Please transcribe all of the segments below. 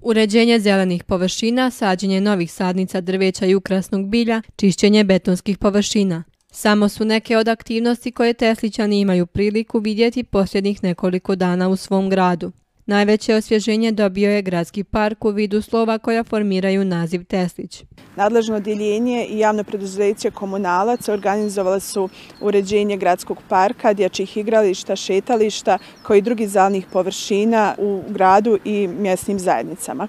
Uređenje zelenih površina, sađenje novih sadnica drveća i ukrasnog bilja, čišćenje betonskih površina. Samo su neke od aktivnosti koje Teslićani imaju priliku vidjeti posljednjih nekoliko dana u svom gradu. Najveće osvježenje dobio je gradski park u vidu slova koja formiraju naziv Teslić. Nadležno odjeljenje i javno preduzeće Komunalac organizovali su uređenje gradskog parka, dječjih igrališta, šetališta kao i drugih zelenih površina u gradu i mjesnim zajednicama.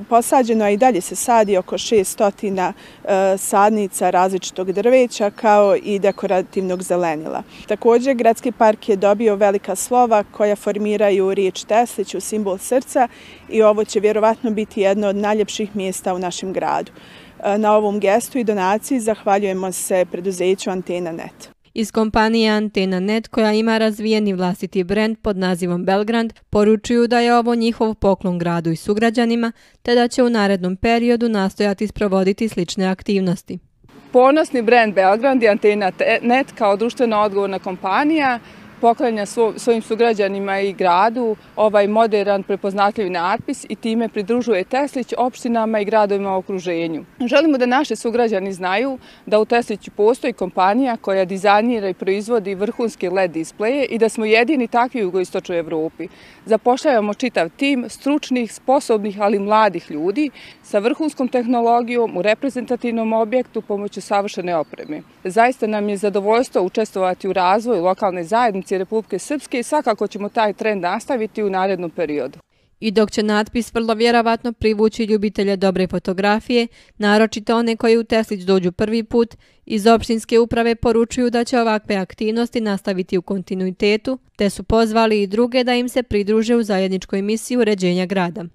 Posađeno je i dalje se sadi oko 600 sadnica različitog drveća kao i dekorativnog zelenila. Također, gradski park je dobio velika slova koja formiraju riječ Teslić u simbol srca i ovo će vjerovatno biti jedno od najljepših mjesta u našem gradu. Na ovom gestu i donaciji zahvaljujemo se preduzeću Antena Net. Iz kompanije Antena Net, koja ima razvijeni vlastiti brend pod nazivom Belgrand, poručuju da je ovo njihov poklon gradu i sugrađanima, te da će u narednom periodu nastojati sprovoditi slične aktivnosti. Ponosni brend Belgrand i Antena Net kao društveno odgovorna kompanija poklanja svojim sugrađanima i gradu ovaj moderan prepoznatljiv natpis i time pridružuje Teslić opštinama i gradovima u okruženju. Želimo da naši sugrađani znaju da u Tesliću postoji kompanija koja dizajnira i proizvodi vrhunske LED displeje i da smo jedini takvi u jugoistočnoj Evropi. Zapošljavamo čitav tim stručnih, sposobnih, ali mladih ljudi sa vrhunskom tehnologijom u reprezentativnom objektu pomoću savršene opreme. Zaista nam je zadovoljstvo učestvovati u razvoju lokalne zajednice Republike Srpske i svakako ćemo taj trend nastaviti u narednom periodu. I dok će natpis vrlo vjerovatno privući ljubitelje dobre fotografije, naročito one koji u Teslić dođu prvi put, iz opštinske uprave poručuju da će ovakve aktivnosti nastaviti u kontinuitetu, te su pozvali i druge da im se pridruže u zajedničkoj misiji uređenja grada.